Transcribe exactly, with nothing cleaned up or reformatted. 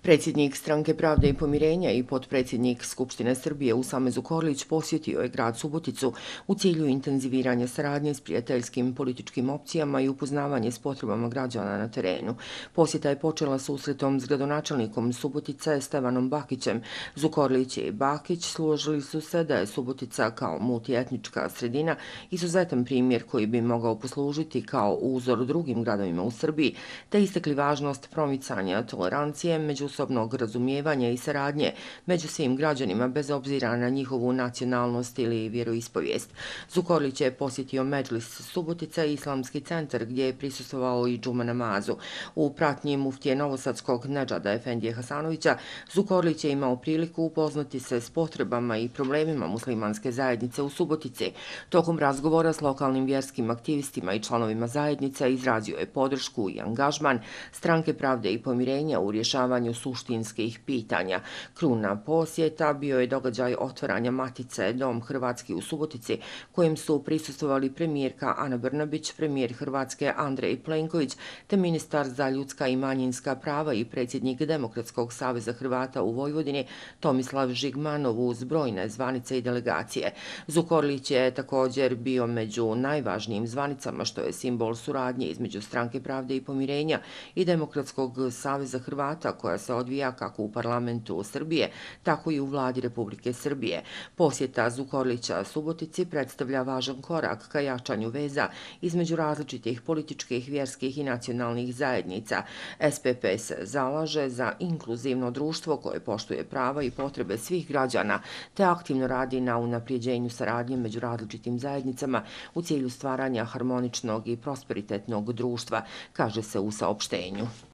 Predsjednik Stranke pravde i pomirenja i potpredsjednik Skupštine Srbije Usame Zukorlić posjetio je grad Suboticu u cilju intenziviranja saradnje s prijateljskim političkim opcijama i upoznavanje s potrebama građana na terenu. Posjeta je počela susretom s gradonačelnikom Subotice Stevanom Bakićem. Zukorlić i Bakić složili su se da je Subotica kao multietnička sredina izuzetan primjer koji bi mogao poslužiti kao uzor drugim gradovima u Srbiji, te istakli važnost promicanja tolerancije, međusobnog razumijevanja i saradnje među svim građanima bez obzira na njihovu nacionalnost ili vjeroispovijest. Zukorlić je posjetio Medžlis Subotica i Islamski centar gdje je prisustvovao i džuma namazu. U pratnji muftije novosadskog Nedžada Efendije Hasanovića Zukorlić je imao priliku upoznati se s potrebama i problemima muslimanske zajednice u Subotici. Tokom razgovora s lokalnim vjerskim aktivistima i članovima zajednice izrazio je podršku i angažman Stranke pravde i pomirenja u rješavanju suštinskih pitanja. Kruna posjeta bio je događaj otvaranja Matice Dom Hrvatski u Subotici, kojem su prisustvovali premijerka Ana Brnabić, premijer Hrvatske Andrej Plenković, te ministar za ljudska i manjinska prava i predsjednik Demokratskog saveza Hrvata u Vojvodini Tomislav Žigmanov uz brojne zvanice i delegacije. Zukorlić je također bio među najvažnijim zvanicama, što je simbol suradnje između Stranke pravde i pomirenja i Demokratskog saveza Hrvata, koja se odvija kako u parlamentu Srbije, tako i u vladi Republike Srbije. Posjeta Zukorlića Subotici predstavlja važan korak ka jačanju veza između različitih političkih, vjerskih i nacionalnih zajednica. S P P se zalaže za inkluzivno društvo koje poštuje prava i potrebe svih građana, te aktivno radi na unaprijeđenju saradnje među različitim zajednicama u cilju stvaranja harmoničnog i prosperitetnog društva, kaže se u saopštenju.